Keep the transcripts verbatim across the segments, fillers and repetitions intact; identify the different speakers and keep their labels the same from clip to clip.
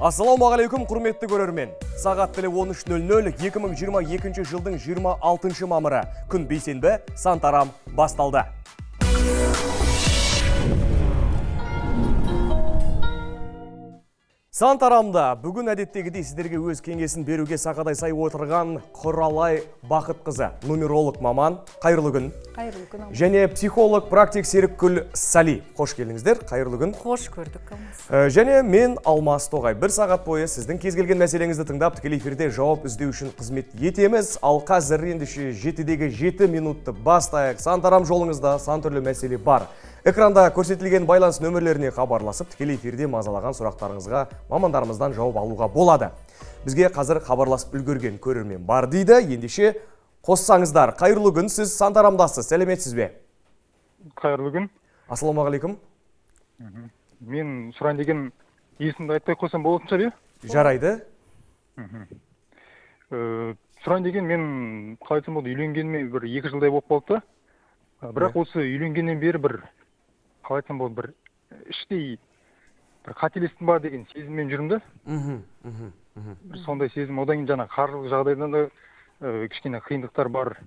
Speaker 1: Ассалаумағалейкум, құрметті көрермен. Сағат тілі он үш нөл нөл, екі мың жиырма екінші жылдың жиырма алтыншы мамыры, күн бейсенбі, Сантарам басталды. Сантарамда бүгін әдеттегідей сіздерге өз кеңесін беруге сақадай сай отырған Құралай Бақытқызы, нумеролог маман, қайырлы күн.
Speaker 2: Қайырлы күн.
Speaker 1: Және психолог практик Серікгүл Сали. Қош келдіңіздер, қайырлы күн.
Speaker 2: Қош көрдік.
Speaker 1: Және мен Алмас Тоғай. Бір сағат бойы сіздің кез келген мәселеңізді тыңдап, тікелей эфирде жауап іздеу үшін қызмет етеміз. Ал қазір ендеше жетідегі жеті минутты бастайық. Сантарам жолыңызда сан түрлі мәселе бар. Экранда көрсетілген байланыс нөмірлеріне хабарласып, тікелей эфирде мазалаған сұрақтарыңызға мамандарымыздан жауап алуға болады. Бізге қазір хабарласып үлгерген көрермен бар дейді. Ендеше қоссаңыздар. Қайырлы күн, сіз Сантарамдасыз. Сәлеметсіз бе?
Speaker 3: Қайырлы күн.
Speaker 1: Ассалаумағалейкум.
Speaker 3: Мен сұрайын деген есімді айтпай қойсам болатын шығар, е?
Speaker 1: Жарайды.
Speaker 3: Сұрайын деген мен қалай айтсам болды, үйленгеніме бір екі жылдай болып қалды. Бірақ осы үйленгеннен бері бір қалай айтсам болды, бір іштей бір қателестім ба деген сезіммен жүрмді. Сондай сезім, одан кейін жаңа қаржылық жағдайдан да кішкене қиындықтар бар.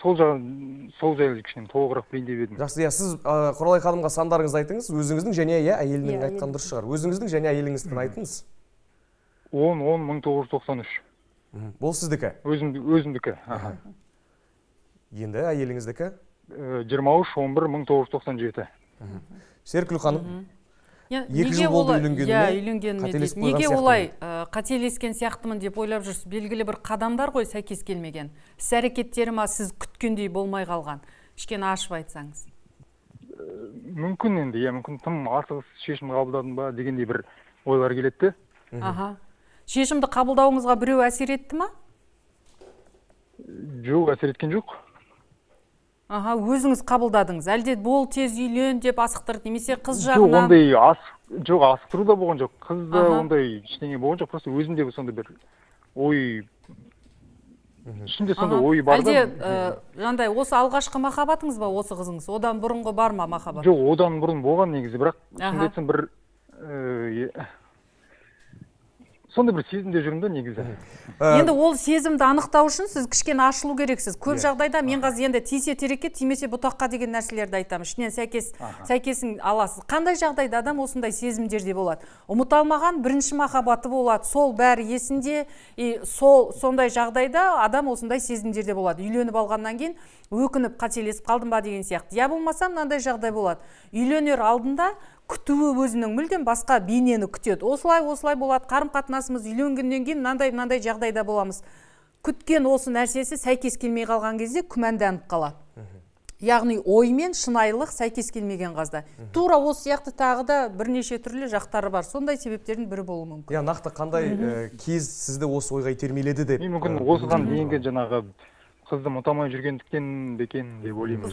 Speaker 3: Сол жайлы кішкене толығырақ білейін деп едім.
Speaker 1: Жақсы, сіз Құралай ханымға сандарыңызды айтыңыз, өзіңіздің және әйелінің айтқан дұрыс шығар. Өзіңіздің және әйеліңіздің айтыңыз.
Speaker 3: он он мың тоғыз жүз тоқсан үш.
Speaker 1: Бұл сіздікі?
Speaker 3: Өзімдікі.
Speaker 1: Енді әйеліңіздікі?
Speaker 3: жиырма үш он бір мың тоғыз жүз тоқсан жеті.
Speaker 1: Серікгүл ханым, екі
Speaker 2: Неге
Speaker 1: жыл болды
Speaker 2: олай-
Speaker 1: үйленгеніме,
Speaker 2: иә, үйленгеніме
Speaker 1: қателесіп
Speaker 2: дейді.
Speaker 1: қойған
Speaker 2: Неге
Speaker 1: сияқтымын.
Speaker 2: олай ә, қателескен сияқтымын деп ойлап жүрсіз? Белгілі бір қадамдар ғой сәйкес келмеген. Іс әрекеттері ма сіз күткендей болмай қалған? Кішкене ашып айтсаңыз.
Speaker 3: Мүмкін енді, иә, мүмкін тым асығыс шешім қабылдадым ба дегендей бір ойлар келеді.
Speaker 2: Аха. Шешімді қабылдауыңызға біреу әсер етті ма?
Speaker 3: Жоқ, әсер еткен жоқ.
Speaker 2: Аха, өзіңіз қабылдадыңыз. Әлде бол тез үйлен деп асықтырды, немесе қыз
Speaker 3: Жоқ,
Speaker 2: жағынан?
Speaker 3: ондай ас жоқ, асықтыру да болған жоқ. Қызда ондай ештеңе болған жоқ, просто өзімде сондай бір ой, ішімде сондай ой бар да.
Speaker 2: Әлде жандай осы алғашқы махаббатыңыз ба осы қызыңыз? Одан бұрынғы бар ма махаббат?
Speaker 3: Жоқ, одан бұрын болған негізі, бірақ шынымды айтсам бір сондай бір сезімде жүрмін негізі.
Speaker 2: Енді ол сезімді анықтау үшін сіз кішкене ашылу керексіз. Көп жағдайда мен қазір енді тисе терекке, тимесе бұтаққа деген нәрселерді айтамын. Ішінен сәйкес сәйкесін аласыз. Қандай жағдайда адам осындай сезімдерде болады? Ұмыта алмаған бірінші махаббаты болады. Сол бәрі есінде, и сол сондай жағдайда адам осындай сезімдерде болады. Үйленіп алғаннан кейін өкініп қателесіп қалдым ба деген сияқты. Я болмаса мынандай жағдай болады. Үйленер алдында күтуі өзінің мүлдем басқа бейнені күтеді. Осылай, осылай болады. Қарым-қатынасымыз үйленгеннен кейін мынандай, мынандай жағдайда боламыз. Күткен осы нәрсесі сәйкес келмей қалған кезде күмәнданып қалады. Яғни оймен шынайылық сәйкес келмеген қазда. Тура осы сияқты тағы да бірнеше түрлі жақтары бар. Сондай себептердің бірі болуы мүмкін.
Speaker 1: Я, нақты қандай кез сізді осы ойға итермеледі деп?
Speaker 3: Мен мүмкін осыған дейінгі жаңағы қызды ұмытамай жүргендіктен бекен деп ойлаймын.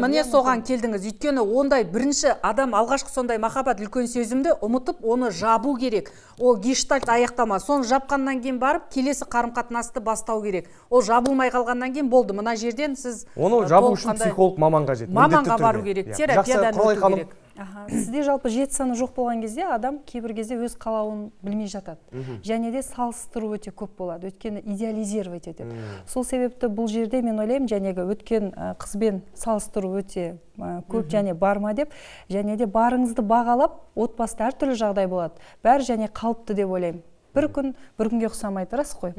Speaker 2: Міне соған келдіңіз. Өйткені ондай бірінші адам алғашқы сондай махаббат үлкен сезімді ұмытып, оны жабу керек. Ол гештальт аяқтама. Соны жапқаннан кейін барып, келесі қарым-қатынасты бастау керек. Ол жабылмай қалғаннан кейін болды. Мына жерден сіз
Speaker 1: оны жабу үшін психолог маман қажет.
Speaker 2: Маманға бару керек. Терапиядан өту керек.
Speaker 4: Сізде жалпы жеті саны жоқ болған кезде адам кейбір кезде өз қалауын білмей жатады. Және де салыстыру өте көп болады. Өткені идеализировать етеді. Сол себепті бұл жерде мен ойлаймын, жәнегі өткен қызбен салыстыру өте көп және бар ма деп, және де барыңызды бағалап, отбасыда әртүрлі жағдай болады. Бәрі және қалыпты деп ойлаймын. Бір күн, бір күнге ұқсамайды, рас қой.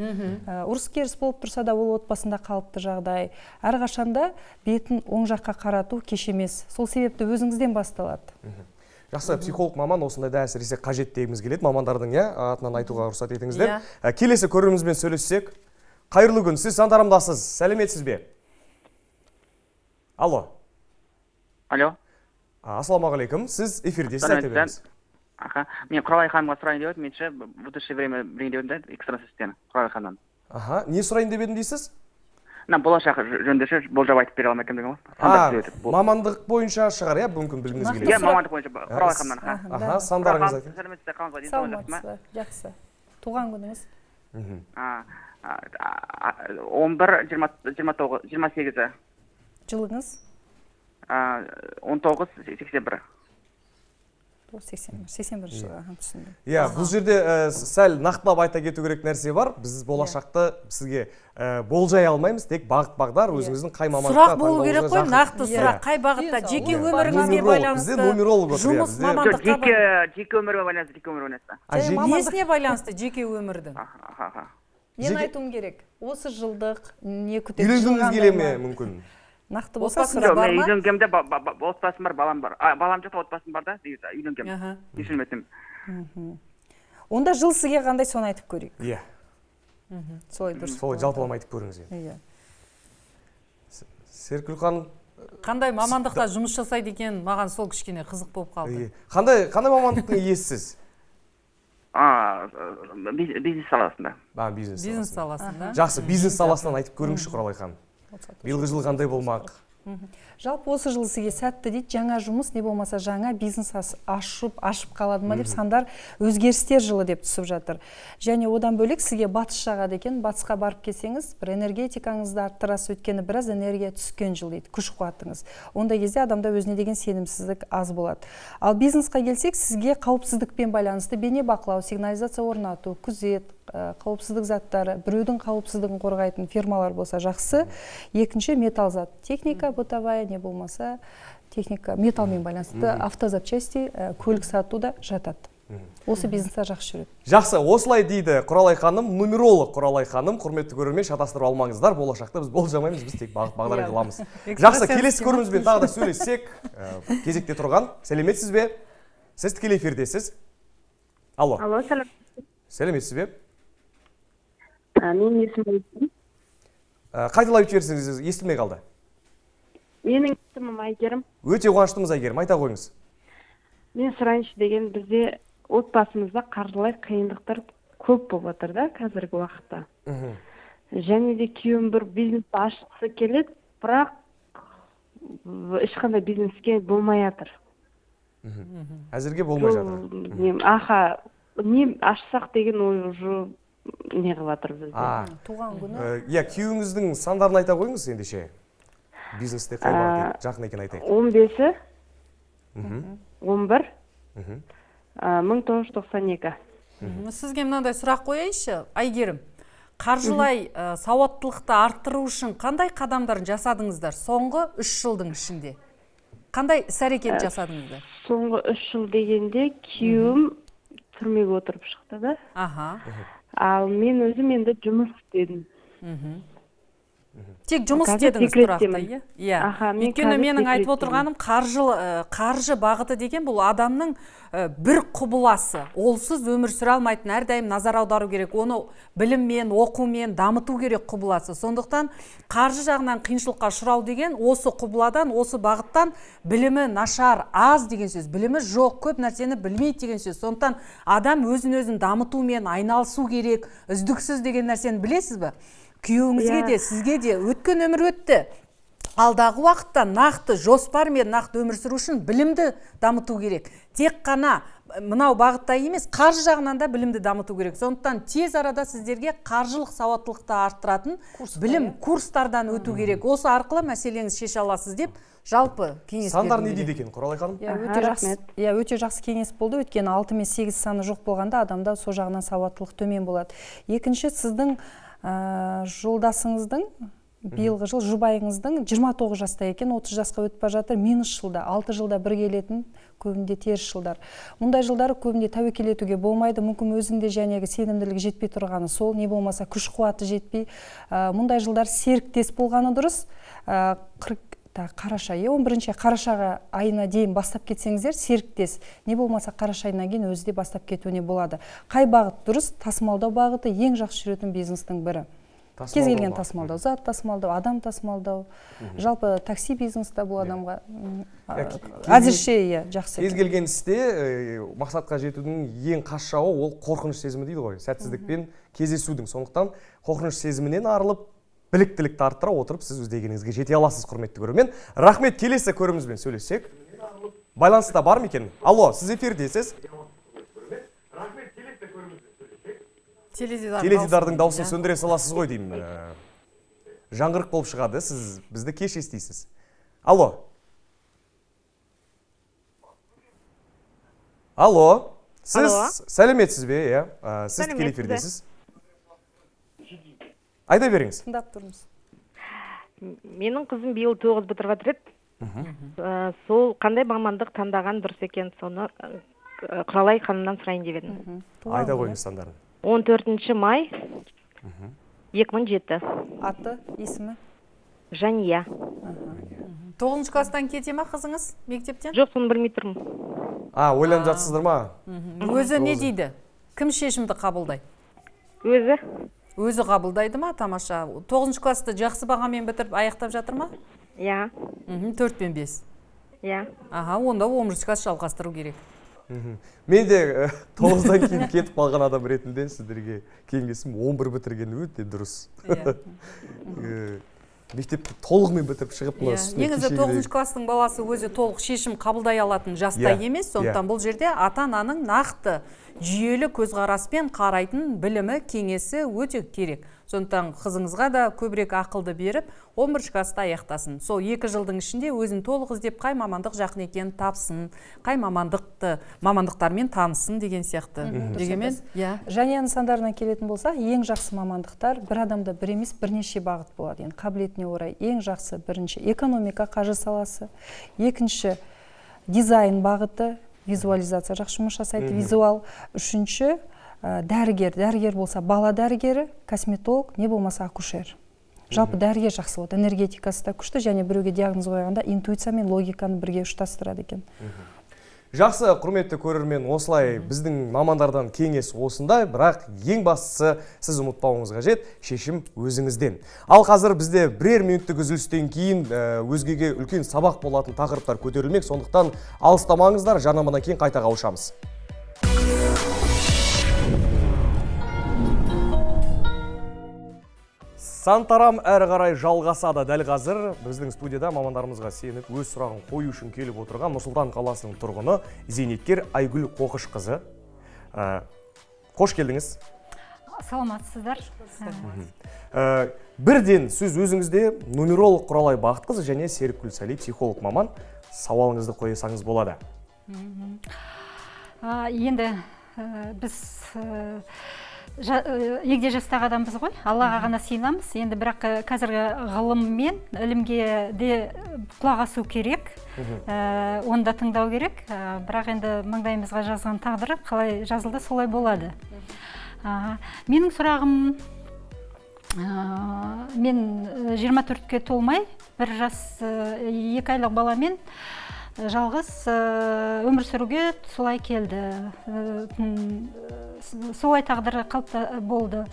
Speaker 4: Ұрыс керіс болып тұрса да ол отбасында қалыпты жағдай. Әрқашанда бетін оң жаққа қарату кеш емес. Сол себепті өзіңізден басталады.
Speaker 1: Жақсы, психолог маман осындайда әсіресе қажет дегіміз келеді. Мамандардың атынан айтуға рұқсат етіңіздер. Келесі көрерменімізбен сөйлессек. Қайырлы күн, сіз Сантарамдасыз. Сәлеметсіз бе? Алло.
Speaker 5: Алло.
Speaker 1: Ассалаумағалейкум. Сіз эфирдесіз, айта беріңіз.
Speaker 5: Аха, мен Құралай ханымға сұрайын деп едім, менше в будущее время білейін деп едім да, экстрасенстен, Құралай ханымнан.
Speaker 1: Аха, не сұрайын деп едім дейсіз?
Speaker 5: Болашақ жөнінде болжап айтып бере алмай кімдігім ғой.
Speaker 1: А, мамандық бойынша шығар, иә, мүмкін білгіңіз келеді.
Speaker 5: Иә, мамандық бойынша Құралай ханымнан.
Speaker 1: Аха, сандарыңыз айтыңыз.
Speaker 5: Сәлеметсіздер, қалыңыз ба?
Speaker 4: Саламатсыз, жақсы. Туған күніңіз?
Speaker 5: он бір жиырма сегізі.
Speaker 4: Жылыңыз?
Speaker 5: он тоғыз сексен бір.
Speaker 4: сексен бірінші жылы түсіндім.
Speaker 1: Иә, бұл жерде сәл нақтылап айта кету керек нәрсе бар. Біз болашақта сізге болжай алмаймыз, тек бағыт бағдар өзіңіздің қай мамандыққа
Speaker 2: сұрақ болу керек қой, нақты сұрақ қай бағытта, жеке өміріңізге байланысты, жұмыс мамандыққа
Speaker 5: байланысты, жеке өмірге байланысты, жеке өмірге байланысты.
Speaker 2: Несіне байланысты жеке өмірдің?
Speaker 4: Нені айтуым керек? Осы жылдық не күтеді?
Speaker 1: Үйленгіңіз келе ме мүмкін?
Speaker 4: Нақты болса
Speaker 5: сұрақ бар ма? Үйленгенде отбасым бар, балам бар. Балам жоқ, отбасым бар да, үйленгем. Кешірім өтінемін.
Speaker 4: Онда жыл сізге қандай, соны айтып көрейік.
Speaker 1: Иә.
Speaker 4: Солай дұрыс.
Speaker 1: Солай жалпылама айтып көріңіз.
Speaker 4: Иә.
Speaker 1: Серкүл ханым,
Speaker 2: қандай мамандықта жұмыс жасайды екен, маған сол кішкене қызық болып қалды.
Speaker 1: Қандай қандай мамандықтың иесісіз?
Speaker 5: А, бизнес саласында.
Speaker 1: Ба, бизнес.
Speaker 2: Бизнес саласында.
Speaker 1: Жақсы, бизнес саласынан айтып көріңізші, Құралай ханым. Биылғы жыл қандай болмақ?
Speaker 4: Жалпы осы жыл сізге сәтті дейді, жаңа жұмыс, не болмаса жаңа бизнес ашып, ашып қалады ма деп сандар өзгерістер жылы деп түсіп жатыр. Және одан бөлек сізге батыс жағады екен, батысқа барып келсеңіз, бір энергетикаңызды арттырасыз, өйткені біраз энергия түскен жыл дейді, күш қуатыңыз. Ондай кезде адамда өзіне деген сенімсіздік аз болады. Ал бизнесқа келсек, сізге қауіпсіздікпен байланысты бейне бақылау, сигнализация орнату, күзет, қауіпсіздік заттары, біреудің қауіпсіздігін қорғайтын фирмалар болса жақсы. Екінші металл зат, техника, бытовая, не болмаса техника, металлмен байланысты автозапчасти, көлік сатуда жатады. Осы бизнесте жақсы жүреді.
Speaker 1: Жақсы, осылай дейді Құралай ханым, нумеролог Құралай ханым. Құрметті көрермен, шатастырып алмаңыздар, болашақта біз болжамаймыз, біз тек бағыт бағдар қыламыз. Жақсы, келесі көрімізбен тағы да сөйлессек, кезекте тұрған. Сәлеметсіз бе? Сіз тікелей эфирдесіз. Алло.
Speaker 6: Алло, сәлем.
Speaker 1: Сәлеметсіз бе?
Speaker 6: Менің есімім Айгерім.
Speaker 1: Қайталап жіберсеңіз, естілмей қалды.
Speaker 6: Менің есімім Айгерім.
Speaker 1: Өте қуаныштымыз, Айгерім, айта қойыңыз.
Speaker 6: Мен сұрайыншы деген, бізде отбасымызда қаржылай қиындықтар көп болып жатыр да қазіргі уақытта. Және де күйеуім бір бизнесті ашқысы келеді, бірақ ешқандай бизнеске болмай жатыр.
Speaker 1: Әзірге болмай жатыр.
Speaker 6: Аха, не ашсақ деген ой уже не қылып жатыр бізде.
Speaker 4: Туған күні.
Speaker 1: Иә, күйеуіңіздің сандарын айта қойыңыз ендеше. Бизнесте қай бағыт жақын екен айтайық.
Speaker 6: он бесі, он бір, мың тоғыз жүз тоқсан екі.
Speaker 2: Сізге мынандай сұрақ қояйыншы, Айгерім. Қаржылай сауаттылықты арттыру үшін қандай қадамдарын жасадыңыздар соңғы үш жылдың ішінде? Қандай іс-әрекет жасадыңыздар?
Speaker 6: Соңғы үш жыл дегенде күйеуім түрмеге отырып шықты да.
Speaker 2: Аха.
Speaker 6: Ал мен өзім енді жұмыс істедім.
Speaker 2: Тек жұмыс істедіңіз тұрақты, иә? Өйткені менің айтып отырғаным қаржы бағыты деген бұл адамның бір құбыласы. Олсыз өмір сүре алмайтын, әрдайым назар аудару керек. Оны біліммен, оқумен дамыту керек құбыласы. Сондықтан қаржы жағынан қиыншылыққа ұшырау деген осы құбыладан, осы бағыттан білімі нашар, аз деген сөз. Білімі жоқ, көп нәрсені білмейді деген сөз. Сондықтан адам өзін-өзін дамытумен айналысу керек, үздіксіз деген нәрсені білесіз бе? Күйеуіңізге де, сізге де өткен өмір өтті. Алдағы уақытта нақты жоспармен нақты өмір сүру үшін білімді дамыту керек. Тек қана мынау бағытта емес, қаржы жағынан да білімді дамыту керек. Сондықтан тез арада сіздерге қаржылық сауаттылықты арттыратын білім курстардан өту керек. Осы арқылы мәселеңіз шеше аласыз деп жалпы кеңес бердім.
Speaker 1: Сандар не дейді екен, Құралай ханым?
Speaker 4: Иә, өте жақсы кеңес болды. Өйткені алты мен сегіз саны жоқ болғанда адамда сол жағынан сауаттылық төмен болады. Екінші, сіздің жолдасыңыздың, биылғы жыл жұбайыңыздың жиырма тоғыз жаста екен, отыз жасқа өтіп бара жатыр, минус жылда, алты жылда бір келетін, көбінде теріс жылдар. Мұндай жылдары көбінде тәуекел етуге болмайды, мүмкін өзінде жәнегі сенімділігі жетпей тұрғаны сол, не болмаса күш қуаты жетпей. Мұндай жылдар серіктес болғаны дұрыс. Қараша, он бірінші қарашаға айына дейін бастап кетсеңіздер, серіктес, не болмаса қараша айына кейін өзі де бастап кетуіне болады. Қай бағыт дұрыс? Тасымалдау бағыты ең жақсы жүретін бизнестің бірі. Кез келген тасымалдау, зат тасымалдау, адам тасымалдау, жалпы такси бизнесті бұл адамға әзірше жақсы.
Speaker 1: Кез келген істе мақсатқа жетудің ең қас жауы ол қорқыныш сезімі дейді ғой, сәтсіздікпен кездесудің. Сондықтан қорқыныш сезімінен арылып, біліктілікті арттыра отырып, сіз өз дегеніңізге жете аласыз, құрметті көрермен. Рахмет, келесі көрімізбен сөйлессек. Байланыста бар ма екен? Алло, сіз эфирдесіз. Теледидардың дауысын сөндіре саласыз ғой деймін. Жаңғырық болып шығады, сіз бізді кеш естисіз. Алло. Алло, сіз
Speaker 7: Алло.
Speaker 1: сәлеметсіз бе, иә? Ә, Сіз тікелей эфирдесіз. Айта беріңіз.
Speaker 4: Тыңдап тұрмыз.
Speaker 7: Менің қызым биыл тоғыз бітіріп жатыр еді. Ә, Сол қандай мамандық таңдаған дұрыс екен, соны ә, Құралай ханымнан сұрайын деп едім.
Speaker 1: Айта қойыңыз сандарын.
Speaker 7: он төртінші май екі мың жеті.
Speaker 4: Аты, есімі?
Speaker 7: Жания.
Speaker 2: тоғызыншы класстан кете ма қызыңыз мектептен?
Speaker 7: Жоқ, соны білмей тұрмын.
Speaker 1: А, ойланып жатсыздар ма?
Speaker 2: Өзі не дейді? Кім шешімді қабылдайды?
Speaker 7: Өзі?
Speaker 2: Өзі қабылдайды ма? Тамаша. тоғызыншы классты жақсы бағамен бітіріп аяқтап жатыр ма?
Speaker 7: Иә.
Speaker 2: төрт пен бес.
Speaker 7: Иә.
Speaker 2: Аха, онда оныншы класс жалғастыру керек.
Speaker 1: Мен де тоғыздан кейін кетіп қалған адам ретінде сіздерге кеңесім он бір бітірген өте дұрыс. Мектепті толығымен бітіріп шығып мына үстіне
Speaker 2: негізі тоғызыншы класстың баласы өзі толық шешім қабылдай алатын жаста емес, сондықтан бұл жерде ата-ананың нақты жүйелі көзқараспен қарайтын білімі, кеңесі өте керек. Сондықтан қызыңызға да көбірек ақылды беріп, он бірінші класста аяқтасын. Сол екі жылдың ішінде өзін толық іздеп қай мамандық жақын екенін тапсын, қай мамандықты мамандықтармен танысын деген сияқты. Дегенмен, иә.
Speaker 4: Және нысандарына келетін болсақ, ең жақсы мамандықтар бір адамда бір емес бірнеше бағыт болады. Енді қабілетіне орай ең жақсы бірінші экономика, қаржы саласы, екінші дизайн бағыты, визуализация жақсы жұмыс жасайды, визуал, үшінші дәрігер, дәрігер болса бала дәрігері, косметолог, не болмаса акушер. Жалпы дәрігер жақсы болады, энергетикасы да күшті, және біреуге диагноз қойғанда интуиция мен логиканы бірге ұштастырады екен.
Speaker 1: Жақсы, құрметті көрермен, осылай біздің мамандардан кеңес осындай, бірақ ең бастысы сіз ұмытпауыңыз қажет, шешім өзіңізден. Ал қазір бізде бірер минуттық үзілістен кейін өзгеге үлкен сабақ болатын тақырыптар көтерілмек, сондықтан алыстамаңыздар, жарнамадан кейін қайта қауышамыз. Сантарам әрі қарай жалғасады. Дәл қазір біздің студияда мамандарымызға сеніп өз сұрағын қою үшін келіп отырған Нұр-Сұлтан қаласының тұрғыны зейнеткер Айгүл Қоқышқызы. Қош келдіңіз.
Speaker 8: Саламатсыздар.
Speaker 1: Бірден сөз өзіңізде нумеролог Құралай Бақытқызы және Серікгүл Сәли психолог маман, сауалыңызды қойсаңыз болады.
Speaker 8: Енді біз егде жастағы адамбыз ғой, Аллаға ғана сыйынамыз. Енді бірақ қазіргі ғылым мен ілімге де құлақ асу керек, оны да тыңдау керек. Бірақ енді маңдайымызға жазған тағдыры қалай жазылды, солай болады. Менің сұрағым, мен жиырма төртке толмай, бір жас екі айлық баламен жалғыз өмір сүруге солай келді. Солай тағдыры қалыпта болды.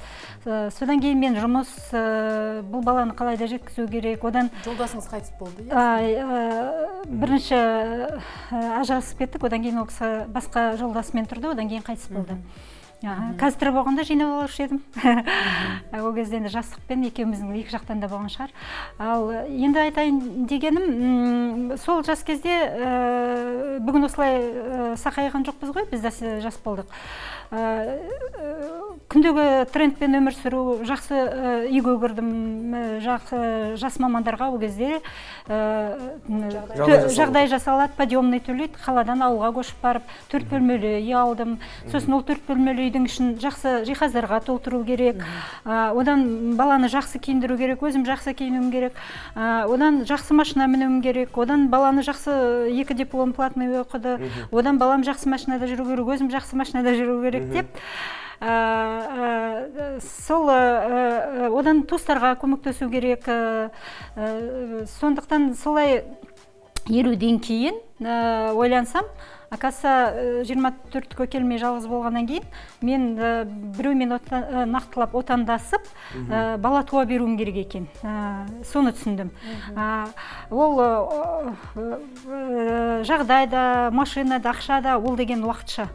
Speaker 8: Содан кейін мен жұмыс, бұл баланы қалайда жеткізу керек. Одан
Speaker 2: жолдасыңыз қайтыс болды?
Speaker 8: Бірінші ажырасып кеттік, одан кейін ол кісі басқа жолдасымен тұрды, одан кейін қайтыс болды. Қазір болғанда жинап алушы едім. Ол кезде енді жастықпен екеуміздің екі жақтан да болған шығар. Ал енді айтайын дегенім, сол жас кезде бүгін осылай сақайған жоқпыз ғой, біз де жас болдық. Күндегі трендпен өмір сүру, жақсы үйге кірдім, жас мамандарға ол кезде жағдай жасалады, подъемный төлейді, қаладан ауылға көшіп барып, төрт бөлмелі үй алдым. Сосын ол төрт бөлмелі үйдің ішін жақсы жиһаздарға толтыру керек. Одан баланы жақсы киіндіру керек, өзім жақсы киінуім керек. Одан жақсы машина мінуім керек. Одан баланы жақсы екі диплом платный оқыды. Одан балам жақсы машинада жүру керек, өзім жақсы машинада жүру керек деп. Сол одан туыстарға көмектесу керек. Сондықтан солай елуден кейін ойлансам, акаса жиырма төртке келмей жалғыз болғаннан кейін мен біреумен нақтылап отандасып бала туа беруім керек екен. Соны түсіндім. Ол жағдайда, машинада, ақшада ол деген уақытша.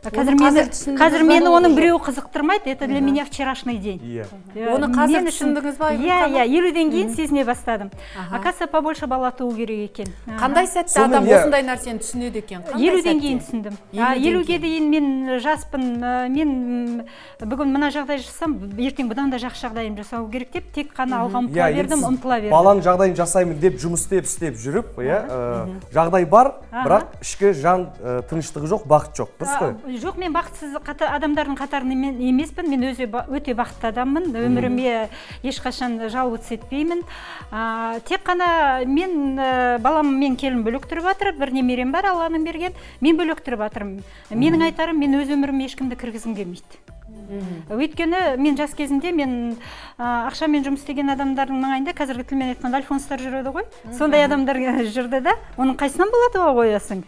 Speaker 8: Қазір мені оның біреу қызықтырмайды, это для меня вчерашний день.
Speaker 2: Оны қазір түсіндіңіз ба?
Speaker 8: Иә, елуден кейін сезіне бастадым. Акаса побольше бала туу керек екен.
Speaker 2: Қандай сәтте адам осындай нәрсені түсінеді екен?
Speaker 8: елуден елуден кейін түсіндім. елуге дейін мен жаспын, мен бүгін мына жағдай жасасам, ертең бұдан да жақсы жағдайым жасау керек деп, тек қана алға ұмтыла бердім, ұмтыла бердім.
Speaker 1: Баланың жағдайын жасаймын деп жұмыс істеп істеп жүріп, жағдай бар, бірақ ішкі жан тыныштығы жоқ, бақыт жоқ, дұрыс қой?
Speaker 8: Жоқ, мен бақытсыз адамдардың қатарынан емеспін, мен өте бақытты адаммын, өміріме ешқашан жалғыз етпеймін. Тек қана мен балам мен келін бөлек тұрып жатыр, бір немерем бар, Алланың берген, мен бөлек тұрып жатырмын. Менің айтарым, мен өз өміріме ешкімді кіргізгім келмейді. Өйткені мен жас кезінде мен ақшамен жұмыс істеген адамдардың маңайында, қазіргі тілмен айтқанда альфонстар жүреді ғой, сондай адамдар жүрді да, оның қайсынан болады ғой қоясың.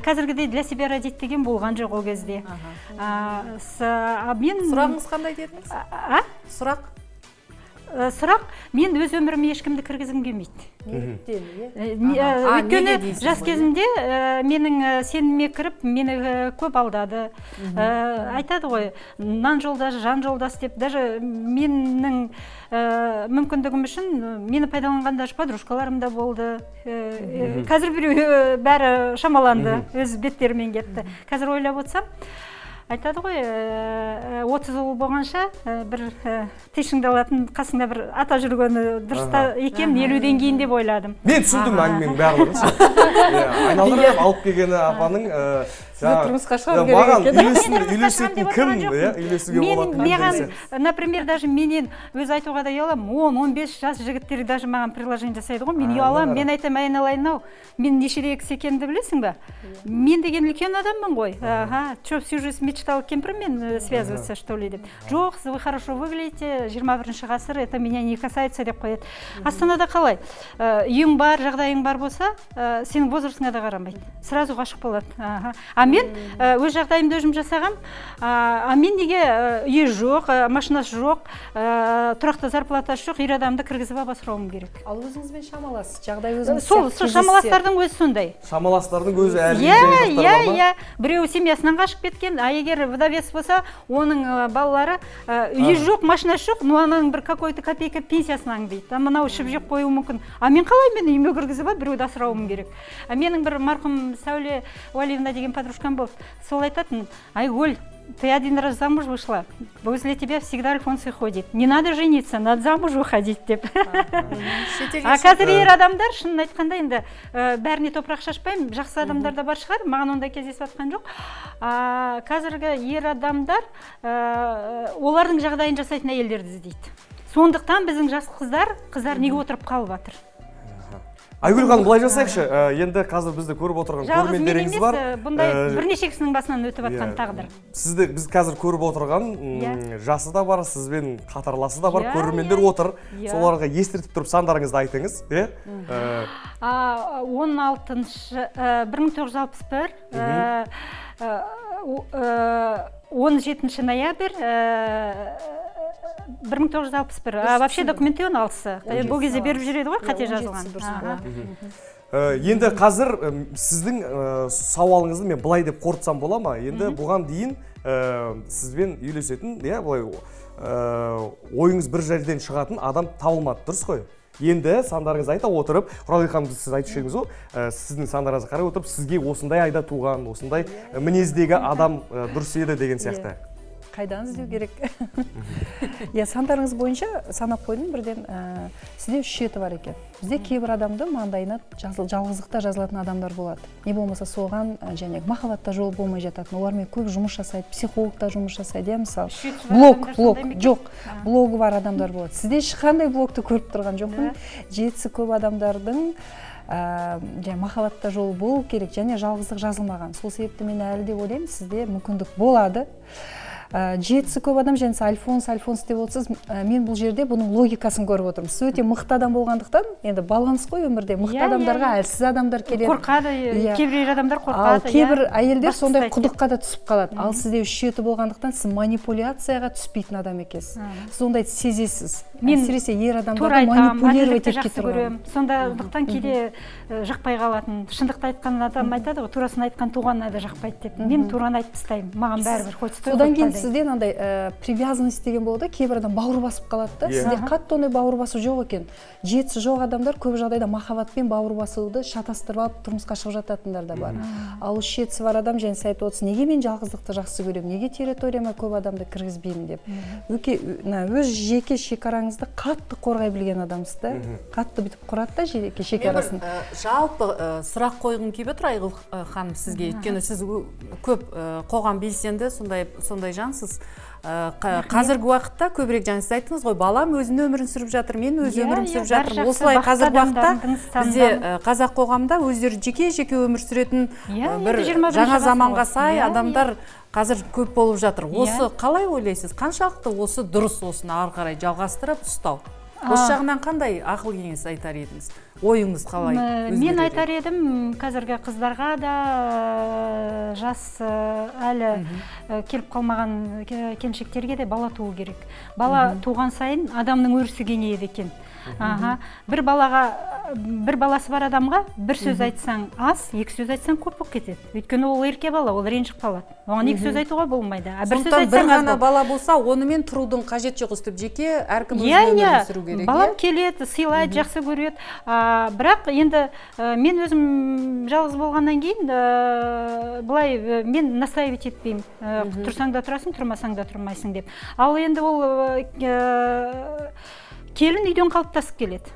Speaker 8: Қазіргідей для себя родить деген болған жоқ ол кезде.
Speaker 2: Сұрағыңыз қандай дедіңіз? Сұрақ?
Speaker 8: Сұрақ, мен өз өміріме ешкімді кіргізгім келмейді. Өйткені жас кезімде менің сеніміме кіріп, мені көп алдады. Айтады ғой, нан жолдас, жан жолдас деп, даже менің мүмкіндігім үшін мені пайдаланған даже подружкаларым да болды. Қазір біреу бәрі шамаланды, өз беттерімен кетті. Қазір ойлап отырсам, айтады ғой, отыз ұл болғанша бір тишіңді алатын қасыңда бір ата жүргені дұрыста екен, елуден кейін деп ойладым.
Speaker 1: Мен түсіндім әңгіменің барлығын. Айналдырып алып келгені апаның
Speaker 2: тұрмысқа шығару керек екен.
Speaker 1: Үйлесетін кім? Үйлесуге болады.
Speaker 8: Маған, например, даже менен өз айтуға да ұялам, он он бес жас жігіттері даже маған приложение жасайды ғой, мен ұялам, мен айтам, айналайын-ау, мен нешеде кісі екенімді білесің ба? Мен деген үлкен адаммын ғой. Что, всю жизнь мечтал кемпірмен связываться, что ли, деп. Жоқ, вы хорошо выглядите, жиырма бірінші ғасыр, это меня не касается деп қояды. Астанада қалай? Үйің бар, жағдайың бар болса, сенің возрастыңа да қарамайды. Сразу ғашық болады. А мен өз жағдайымды өзім жасағам, а мен неге үйі жоқ, машинасы жоқ, тұрақты зарплатасы жоқ, ер адамды кіргізіп асырауым керек.
Speaker 4: Ал өзіңізбен шамаласыз, жағдай өзіңіз
Speaker 8: сол шамаластардың өзі сондай.
Speaker 1: Шамаластардың өзі әрине
Speaker 8: иә, иә, иә. Біреу семьясынан қашып кеткен, а егер вдовец болса, оның балалары үйі жоқ, машинасы жоқ, но ананың бір какой-то копейка пенсиясынан дейді. Мынау ішіп жеп қоюы мүмкін. А мен қалай мен үйіме кіргізіп біреуді асырауым керек. Менің бір марқұм Сәуле Уалиевна деген подружкам болды. Сол айтатын, Айгүл, ты один раз замуж вышла, возле тебя всегда Альфонсы ходит. Не надо жениться, надо замуж выходить деп. А қазір ер адамдар, шынын айтқанда енді бәріне топырақ шашпаймын, жақсы адамдар да бар шығар, маған ондай кездесіп жатқан жоқ. Қазіргі ер адамдар олардың жағдайын жасайтын әйелдерді іздейді. Сондықтан біздің жас қыздар, қыздар неге отырып қалып жатыр?
Speaker 1: Айгүл ханым, былай жасайықшы, енді қазір бізді көріп отырған көрермендеріңіз бар.
Speaker 8: Бұндай бірнеше кісінің басынан өтіп жатқан тағдыр.
Speaker 1: Сізді біз қазір көріп отырған жасы да бар, сізбен қатарласы да бар, көрермендер отыр. Соларға естіртіп тұрып сандарыңызды айтыңыз.
Speaker 8: он алтыншы, бір мың тоғыз жүз алпыс бір, он жетінші ноябрь, бір мың тоғыз жүз алпыс бір. Вообще документы он алтысы. Бұл кезде беріп жүреді ғой, қате жазылған.
Speaker 1: Енді қазір сіздің сауалыңызды мен былай деп қорытсам бола ма? Енді бұған дейін сізбен үйлесетін, ойыңыз бір жерден шығатын адам табылмады, дұрыс қой? Енді сандарыңыз айта отырып, Құралбек ханым, сіз айтып жүрсеңіз ғой, сіздің сандарыңызды қарай отырып, сізге осындай айда туған, осындай мінездегі адам дұрыс еді деген сияқты.
Speaker 4: Қайдан іздеу керек? Я сандарыңыз бойынша санап қойдым, бірден сізде үш жеті бар екен. Бізде кейбір адамды маңдайына жалғыздықта жазылатын адамдар болады. Не болмаса соған және махаббатта жол болмай жататын. Олармен көп жұмыс жасайды, психологта жұмыс жасайды, мысалы. Блог, блог, жоқ. Блогы бар адамдар болады. Сізде ешқандай блогты көріп тұрған жоқпын. Жетісі көп адамдардың махаббатта жол болу керек және жалғыздық жазылмаған. Сол себепті мен әлі де ойлаймын, сізде мүмкіндік болады. Жетісі көп адам, жәнесі Альфонс, Альфонс деп отырсыз, мен бұл жерде бұның логикасын көріп отырмын. Сіз өте мықты адам болғандықтан, енді баланс қой өмірде, мықты адамдарға әлсіз адамдар келеді.
Speaker 8: Қорқады, кейбір адамдар қорқады.
Speaker 4: Ал кейбір әйелдер сондай құдыққа да түсіп қалады. Ал сізде үш жеті болғандықтан, сіз манипуляцияға түспейтін адам екенсіз. Сіз ондайды сезесіз. Әсіресе ер адамдарды манипулировать етіп тұрған.
Speaker 8: Сондықтан кейде жақпай қалатын. Шындықты айтқан адам айтады ғой, турасын айтқан туғанына да жақпайды деп. Мен тураны айтып тастаймын. Маған бәрібір, хоть стой.
Speaker 4: Одан кейін сізде андай привязанность деген болады, кейбір адам бауыр басып қалады да. Сізде қатты ондай бауыр басу жоқ екен. Жетісі жоқ адамдар көп жағдайда махаббатпен бауыр басуды шатастырып алып тұрмысқа шығып жататындар да бар. Ал үш жетісі бар адам және айтып отырсыз, неге мен жалғыздықты жақсы көремін, неге территорияма көп адамды кіргізбеймін деп. Өз жеке шекараңызды қатты қорғай білген адамсыз да. Қатты бүйтіп құрады да жеке шекарасын.
Speaker 2: Жалпы сұрақ қойғым келіп отыр Айгүл ханым сізге, өйткені сіз көп қоғам белсенді сондай жансыз. Қазіргі уақытта көбірек жаңа сіз айттыңыз ғой, балам өзінің өмірін сүріп жатыр, мен өз өмірім сүріп жатырмын. Осылай қазіргі уақытта бізде қазақ қоғамда өздері жеке-жеке өмір сүретін бір жаңа заманға сай адамдар қазір көп болып жатыр. Осы қалай ойлайсыз? Қаншалықты осы дұрыс, осыны ары қарай жалғастырып ұстау? Осы жағынан қандай ақыл кеңес айтар едіңіз? Ойыңыз қалай?
Speaker 8: Мен айтар едім, қазіргі қыздарға да жас әлі келіп қалмаған келіншектерге де бала туу керек. Бала туған сайын адамның өрісі кеңейеді екен. Бір балаға, бір баласы бар адамға бір сөз айтсаң аз, екі сөз айтсаң көп болып кетеді. Өйткені ол ерке бала, ол ренжіп қалады. Оған екі сөз айтуға болмайды.
Speaker 2: Сондықтан бір ғана бала болса, онымен тұрудың қажет жоқ, өстіп жеке әркім өзінің өмірін сүру керек.
Speaker 8: Балам келеді, сыйлайды, жақсы көреді. Бірақ енді мен өзім жалғыз болғаннан кейін былай мен настаивать етпеймін. Тұрсаң да тұрасың, тұрмасаң да тұрмайсың деп. Ал енді ол келін үйден қалыптасып келеді.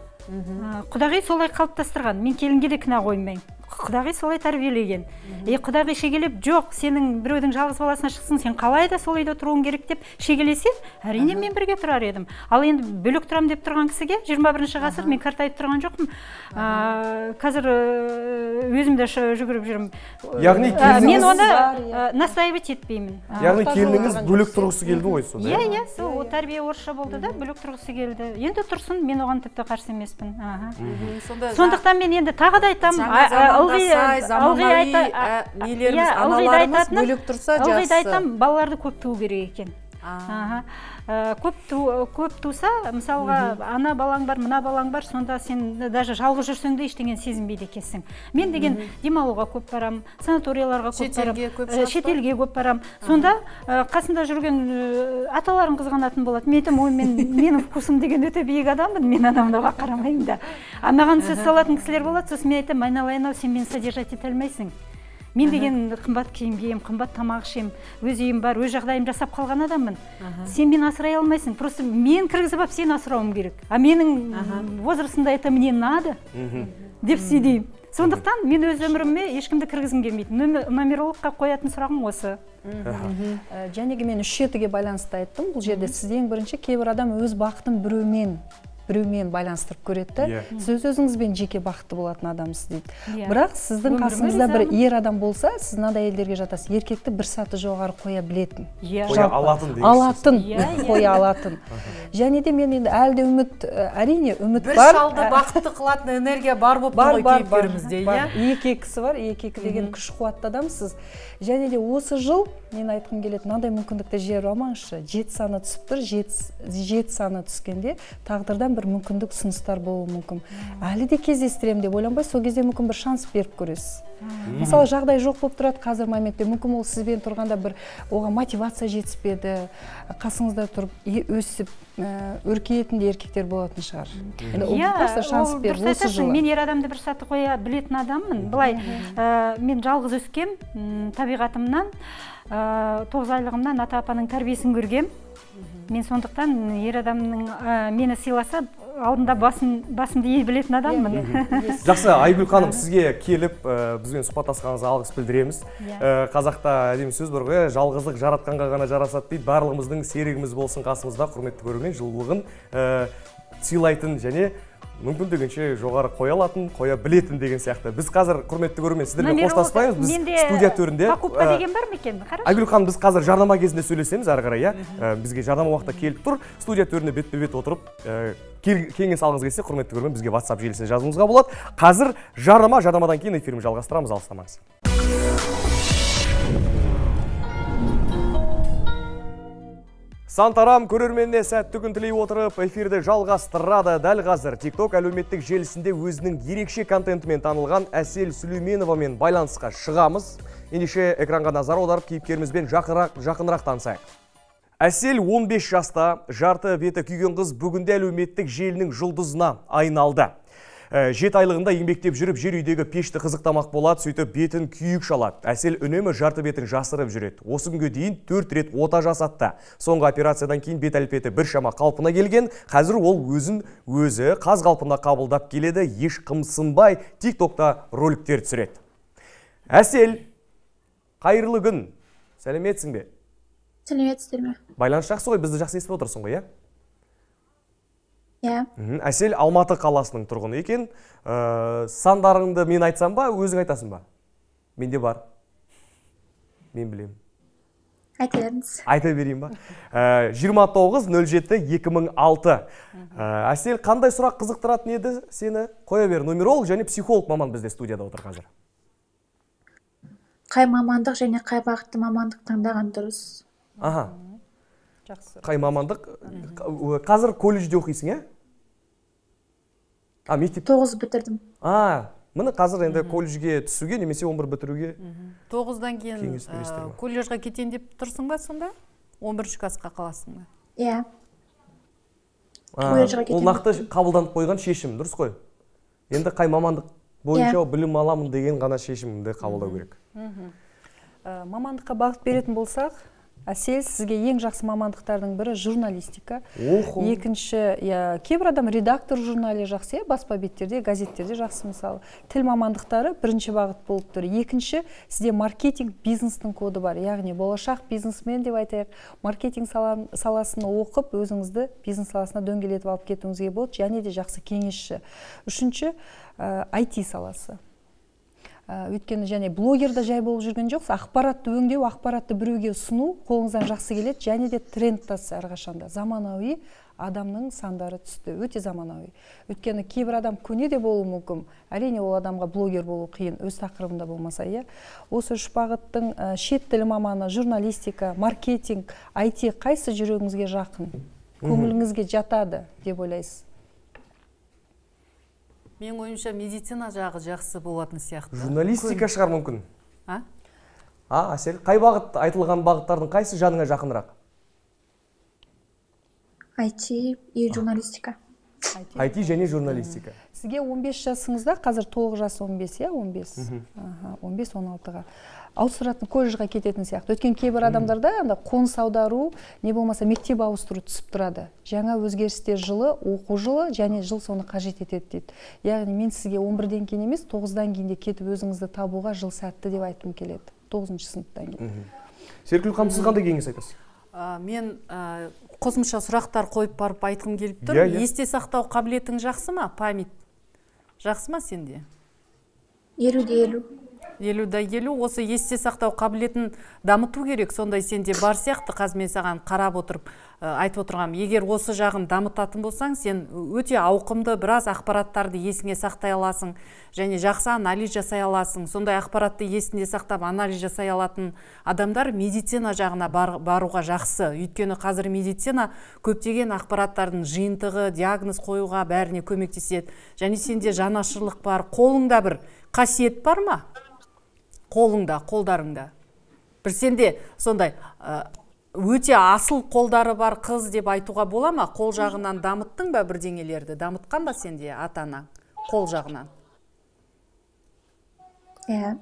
Speaker 8: Құдағи солай қалыптастырған. Мен келінге де кінә қоймаймын. Құдағи солай тәрбиелеген. Е, құдағи шегелеп, жоқ, сенің біреудің жалғыз баласына шықсын, сен қалай да сол үйде тұруың керек деп шегелесе, әрине мен бірге тұрар едім. Ал енді бөлек тұрам деп тұрған кісіге жиырма бірінші ғасыр мен қартайып тұрған жоқпын. Қазір өзім де жүгіріп жүрмін.
Speaker 1: Яғни
Speaker 8: мен оны настаивать етпеймін.
Speaker 1: Яғни келініңіз бөлек тұрғысы келді ғой сонда?
Speaker 8: Иә, иә, сол тәрбие орысша болды да, бөлек тұрғысы келді. Енді тұрсын, мен оған тіпті қарсы емеспін. Сондықтан мен енді тағы да айтамын, ылғида айтам, балаларды көп туу керек екен. Көп туса, мысалға ана балаң бар, мына балаң бар, сонда сен даже жалғыз жүрсең де ештеңені сезінбейді екенсің. Мен деген демалуға көп барам, санаторияларға көп барам, шетелге көп барам. Сонда қасында жүрген аталарың қызғанатын болады. Мен айтам, ой, менің вкусым деген өте биік адаммын, мен анамнаға қарамаймын да. Маған сөз салатын кісілер болады, сосын мен айтам, айналайын-ау, сен мені содержать ете алмайсың. Мен деген қымбат киім кием, қымбат тамақ ішем, өз үйім бар, өз жағдайым жасап қалған адаммын. Сен мені асырай алмайсың, просто мен кіргізіп алып сені асырауым керек. А менің возрастында это мне надо деп сөйлеймін. Сондықтан мен өз өміріме ешкімді кіргізгім келмейді. Нумерологқа қоятын сұрағым осы.
Speaker 4: Жәнеге мен үш жетіге байланысты айттым. Бұл жерде сіз ең бірінші кейбір адам өз бақытын біреумен біреумен байланыстырып көреді. Сіз өзіңізбен жеке бақытты болатын адамсыз дейді. Бірақ сіздің қасыңызда бір ер адам болса, сіз мынадай әйелдерге жатасыз, еркекті бір саты жоғары қоя білетін.
Speaker 1: Қоя алатын дейсіз.
Speaker 4: Алатын, қоя алатын. Және де мен енді әлі де үміт, әрине үміт бар.
Speaker 2: Бір шалды бақытты қылатын энергия бар болып тұр ғой кейіпкерімізде.
Speaker 4: Екі екісі бар, екі екі деген күш қуатты адамсыз. Және де осы жыл мен айтқым келеді, мынандай мүмкіндікті жіберіп алмаңызшы. Жеті саны түсіп тұр, жеті саны түскенде тағдырдан бір мүмкіндік ұсыныстар болуы мүмкін. Әлі де кездестірем деп ойланбай, сол кезде мүмкін бір шанс беріп көресіз. Мысалы, жағдай жоқ болып тұрады қазір моментте, мүмкін ол сізбен тұрғанда бір оған мотивация жетіспеді, қасыңызда тұрып өсіп өркейетін де еркектер болатын шығар.
Speaker 8: Иә, дұрыс айтасың, мен ер адамды бір саты қоя білетін адаммын. Былай, мен жалғыз өскем, табиғатымнан, тоғыз айлығымнан ата-апаның тәрбиесін көргем. Мен сондықтан ер адамның мені сыйласа, алдында басымды ей білетін адаммын.
Speaker 1: Жақсы, Айгүл ханым, сізге келіп, бізбен сұхбаттасқаныңызға алғыс білдіреміз. Қазақта әдемі сөз бар ғой, жалғыздық жаратқанға ғана жарасады дейді. Барлығымыздың серігіміз болсын қасымызда, құрметті көрермен, жылулығын сыйлайтын және мүмкіндігінше жоғары қоя алатын, қоя білетін деген сияқты. Біз қазір, құрметті көрермен, сіздермен қоштаспаймыз. Біз студия төрінде
Speaker 8: покупка деген бар ма екен?
Speaker 1: Айгүл ханым, біз қазір жарнама кезінде сөйлесеміз ары қарай, иә. Бізге жарнама уақытта келіп тұр. Студия төрінде бетпе-бет отырып, кеңес алғыңыз келсе, құрметті көрермен, бізге WhatsApp желісіне жазуыңызға болады. Қазір жарнама, жарнамадан кейін эфирімізді жалғастырамыз, алыстамаңыз. Сантарам көрерменіне сәтті күн тілей отырып, эфирді жалғастырады. Дәл қазір TikTok әлеуметтік желісінде өзінің ерекше контентімен танылған Әсел Сүлейменовамен байланысқа шығамыз. Ендеше экранға назар аударып, кейіпкерімізбен жақынырақ танысайық. Әсел он бес жаста, жарты беті күйген қыз бүгінде әлеуметтік желінің жұлдызына айналды. Жеті айлығында еңбектеп жүріп, жер үйдегі пешті қызықтамақ болады, сөйтіп бетін күйік шалады. Әсел үнемі жарты бетін жасырып жүреді. Осы күнге дейін төрт рет ота жасатты. Соңғы операциядан кейін бет әлпеті бір шама қалпына келген. Қазір ол өзін өзі қаз қалпына қабылдап келеді, еш қымсынбай тик-токта роликтер түсіреді. Әсел, қайырлы күн. Сәлеметсің бе?
Speaker 9: Сәлеметсіздер ме?
Speaker 1: Байланыс жақсы ғой, бізді жақсы естіп отырсың ғой, иә?
Speaker 9: Иә.
Speaker 1: Әсел Алматы қаласының тұрғыны екен. Сандарыңды мен айтсам ба, өзің айтасың ба? Менде бар. Мен білемін.
Speaker 9: Айта беріңіз.
Speaker 1: Айта берейін ба? жиырма тоғыз нөл жеті екі мың алты. Әсел, қандай сұрақ қызықтыратын еді сені? Қоя бер, нумеролог және психолог маман бізде студияда отыр қазір.
Speaker 9: Қай мамандық және қай бағытты мамандық таңдаған дұрыс?
Speaker 1: Аха. Қай мамандық? Қазір колледжде оқисың, е? А, мектеп?
Speaker 9: тоғыз бітірдім.
Speaker 1: А, міне қазір енді колледжге түсуге, немесе он бір бітіруге.
Speaker 2: тоғыздан кейін колледжға кетейін деп тұрсың ба сонда? он бірінші классқа қаласың ба?
Speaker 9: Иә.
Speaker 1: Ол нақты қабылданып қойған шешім, дұрыс қой? Енді қай мамандық бойынша білім аламын деген ғана шешімді қабылдау керек.
Speaker 4: Мамандыққа бағыт беретін болсақ, Әсел, сізге ең жақсы мамандықтардың бірі журналистика. Екінші, кейбір адам редактор журналы жақсы, баспа беттерде, газеттерде жақсы мысалы. Тіл мамандықтары бірінші бағыт болып тұр. Екінші, сізде маркетинг бизнестің коды бар. Яғни болашақ бизнесмен деп айтайық, маркетинг саласын оқып, өзіңізді бизнес саласына дөңгелетіп алып кетуіңізге болады, және де жақсы кеңесші. Үшінші, ай ти саласы. Өйткені және блогерда жай болып жүрген жоқ, ақпаратты өңдеу, ақпаратты біреуге ұсыну қолыңыздан жақсы келеді, және де тренд тасы әрқашанда. Заманауи адамның сандары түсті, өте заманауи. Өйткені кейбір адам көне де болуы мүмкін, әрине ол адамға блогер болу қиын, өз тақырыбында болмаса, иә. Осы үш бағыттың шет тілі маманы, журналистика, маркетинг, ай ти қайсы жүрегіңізге жақын, көңіліңізге жатады деп ойлайсыз?
Speaker 2: Мен ойымша медицина жағы жақсы болатын сияқты.
Speaker 1: Журналистика шығар мүмкін.
Speaker 2: А?
Speaker 1: А, Әсел, қай бағыт, айтылған бағыттардың қайсы жаныңа жақынырақ?
Speaker 9: ай ти и журналистика.
Speaker 1: ай ти және журналистика.
Speaker 4: Сізге он бес жасыңызда, қазір толық жас он бес, иә, он бес. он бес он алтыға. Ауыстыратын колледжға кететін сияқты. Өткен кейбір адамдарда қоныс аудару, не болмаса мектеп ауыстыру түсіп тұрады. Жаңа өзгерістер жылы, оқу жылы және жыл соны қажет етеді дейді. Яғни мен сізге он бірден кейін емес, тоғыздан кейін де кетіп өзіңізді табуға жыл сәтті деп айтқым келеді. тоғызыншы сыныптан кейін.
Speaker 1: Серкүл ханым, сіз қандай кеңес айтасыз?
Speaker 2: Мен қосымша сұрақтар қойып барып айтқым келіп тұр. Есте сақтау қабілетің жақсы ма? Память жақсы ма сенде?
Speaker 9: елуде елу.
Speaker 2: елуде елу. Осы есте сақтау қабілетін дамыту керек. Сондай сенде бар сияқты. Қазір мен саған қарап отырып айтып отырғам. Егер осы жағын дамытатын болсаң, сен өте ауқымды біраз ақпараттарды есіңе сақтай аласың және жақсы анализ жасай аласың. Сондай ақпаратты есінде сақтап анализ жасай алатын адамдар медицина жағына баруға жақсы. Өйткені қазір медицина көптеген ақпараттардың жиынтығы, диагноз қоюға бәріне көмектеседі. Және сенде жанашырлық бар, қолыңда бір қасиет бар ма? Қолыңда, қолдарыңда. Бір сенде сондай өте асыл қолдары бар қыз деп айтуға бола ма? Қол жағынан дамыттың ба бірдеңелерді? Дамытқан ба сенде ата-анаң қол жағынан?
Speaker 9: Иә.